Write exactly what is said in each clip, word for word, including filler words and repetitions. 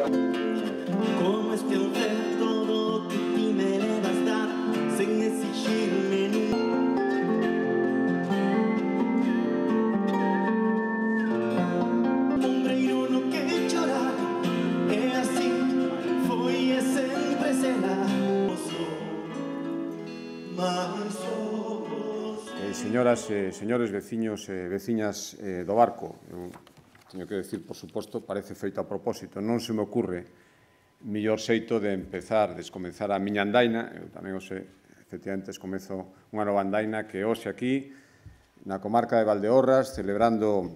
Como es que hacer todo o que ti me levas dar sen exigirme nunca. Ombreiro no que chorar é así, foi e sempre será. Eh, señoras e eh, señores veciños e eh, veciñas eh, do Barco, eu teño que decir, por suposto, parece feito a propósito. Non se me ocurre mellor xeito de empezar, descomenzar a miña andaina. Eu tamén o sei, efectivamente, comezo unha nova andaina que hoxe aquí, na comarca de Valdeorras, celebrando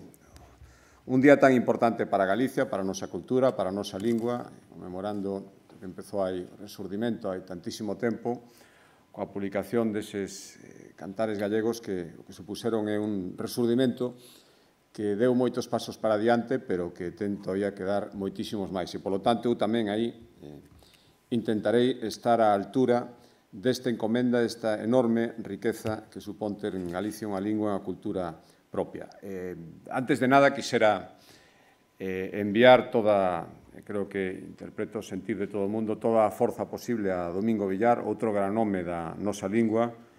un día tan importante para Galicia, para a nosa cultura, para a nosa lingua, conmemorando que empezou aí o resurdimento hai tantísimo tempo, coa publicación deses eh, cantares gallegos que o que supuseron é un resurdimento que deu moitos pasos para adiante, pero que ten todavía que dar moitísimos máis. E, polo tanto, eu tamén aí eh, intentarei estar á altura desta encomenda, desta enorme riqueza que supón ter en Galicia unha lingua e unha cultura propia. Eh, antes de nada, quixera eh, enviar toda, creo que interpreto o sentir de todo o mundo, toda a forza posible a Domingo Villar, outro gran home da nosa lingua,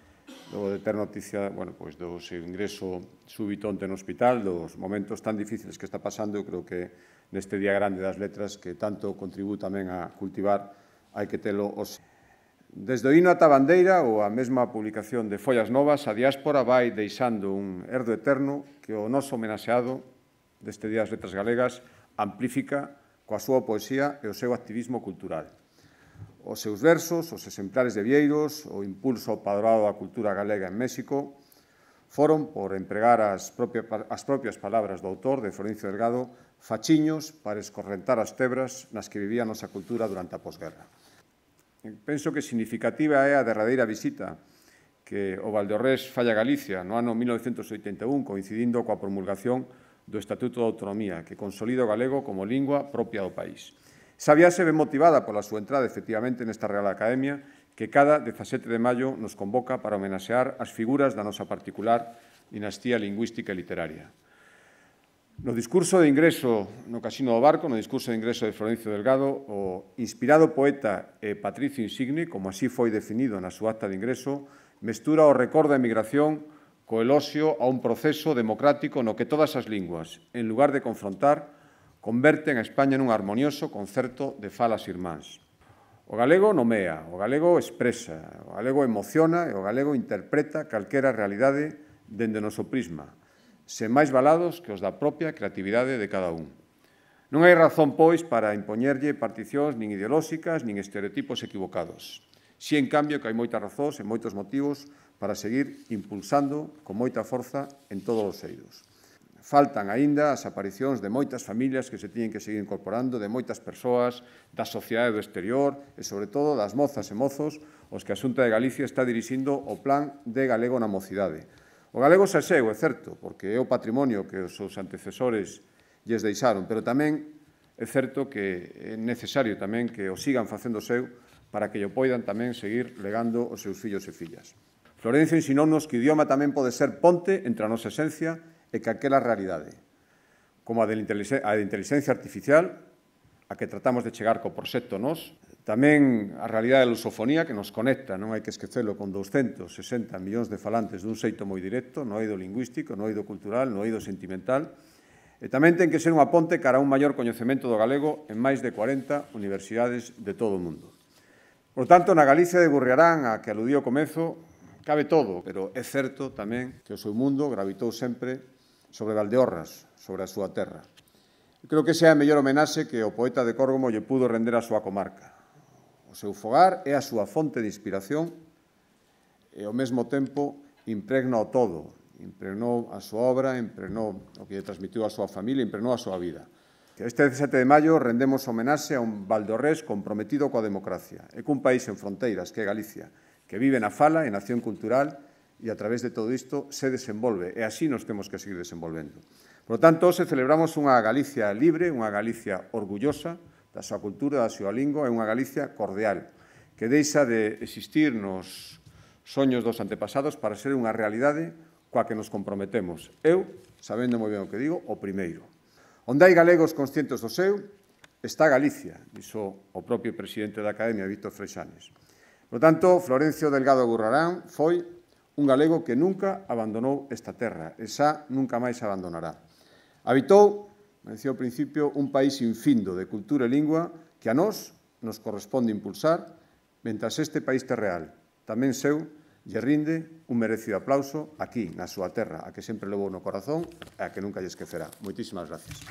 logo de ter noticia, bueno, pois do seu ingreso súbito onte no hospital, dos momentos tan difíciles que está pasando. Eu creo que neste día grande das letras, que tanto contribúe tamén a cultivar, hai que telo os... Desde o hino ata a bandeira ou a mesma publicación de Follas Novas, a diáspora vai deixando un herdo eterno que o noso homenaxeado deste Día das Letras Galegas amplifica coa súa poesía e o seu activismo cultural. Os seus versos, os exemplares de Vieiros, o impulso ao padroado da cultura galega en México, foron, por empregar as propias, as propias palabras do autor, de Florencio Delgado, fachiños para escorrentar as tebras nas que vivía a nosa cultura durante a posguerra. Penso que significativa é a derradeira visita que o Valdeorrés falla a Galicia no ano mil novecentos oitenta e un, coincidindo coa promulgación do Estatuto de Autonomía, que consolida o galego como lingua propia do país. Esa viaxe ben motivada pola súa entrada, efectivamente, nesta Real Academia, que cada dezasete de maio nos convoca para homenaxear as figuras da nosa particular dinastía lingüística e literaria. No discurso de ingreso no Casino do Barco, no discurso de ingreso de Florencio Delgado, o inspirado poeta e patricio insigne, como así foi definido na súa acta de ingreso, mestura o recordo da emigración co eloxio a un proceso democrático no que todas as linguas, en lugar de confrontar, converten a España nun harmonioso concerto de falas irmáns. O galego nomea, o galego expresa, o galego emociona e o galego interpreta calquera realidade dende o noso prisma, sen máis valados que os da propia creatividade de cada un. Non hai razón, pois, para impoñerlle particións nin ideolóxicas nin estereotipos equivocados. Si, en cambio, que hai moitas razóns e moitos motivos para seguir impulsando con moita forza en todos os eidos. Faltan aínda as aparicións de moitas familias que se teñen que seguir incorporando, de moitas persoas, da sociedade do exterior e, sobre todo, das mozas e mozos os que a Xunta de Galicia está dirixindo o Plan de Galego na Mocidade. O galego xa seu, é certo, porque é o patrimonio que os seus antecesores lles deixaron, pero tamén é certo que é necesario tamén que o sigan facendo seu para que o poidan tamén seguir legando os seus fillos e fillas. Florencio ensinounos que o idioma tamén pode ser ponte entre a nosa esencia e calquera realidade, como a de inteligencia artificial, a que tratamos de chegar co proxecto Nos, tamén a realidade da lusofonía que nos conecta, non hai que esquecelo, con douscentos sesenta millóns de falantes dun xeito moi directo, no eido lingüístico, no eido cultural, no eido sentimental, e tamén ten que ser unha ponte cara a un maior coñecemento do galego en máis de cuarenta universidades de todo o mundo. Por tanto, na Galicia de Gurriarán, a que aludí ao comezo, cabe todo, pero é certo tamén que o seu mundo gravitou sempre sobre Valdeorras, sobre a súa terra. Creo que esa é a mellor homenaxe que o poeta de Córgomo lle pudo render á súa comarca. O seu fogar é a súa fonte de inspiración e, ao mesmo tempo, impregna o todo. Impregnou a súa obra, impregnou o que lle transmitiu a súa familia, impregnou a súa vida. Este dezasete de maio rendemos homenaxe a un Valdeorrés comprometido coa democracia e cun país en fronteiras, que é Galicia, que vive na fala e na acción cultural e a través de todo isto se desenvolve, e así nos temos que seguir desenvolvendo. Por lo tanto, hoxe celebramos unha Galicia libre, unha Galicia orgullosa da súa cultura, da súa lingua, e unha Galicia cordial, que deixa de existir nos soños dos antepasados para ser unha realidade coa que nos comprometemos. Eu, sabendo moi ben o que digo, o primeiro. Onde hai galegos conscientes do seu, está Galicia, dixo o propio presidente da Academia, Víctor Freixanes. Por tanto, Florencio Delgado Gurrarán foi un galego que nunca abandonou esta terra e xa nunca máis abandonará. Habitou, me decía ao principio, un país infindo de cultura e lingua que a nós nos corresponde impulsar, mentras este país terreal tamén seu lle rinde un merecido aplauso aquí, na súa terra, a que sempre levou no corazón e a que nunca lle esquecerá. Moitísimas gracias.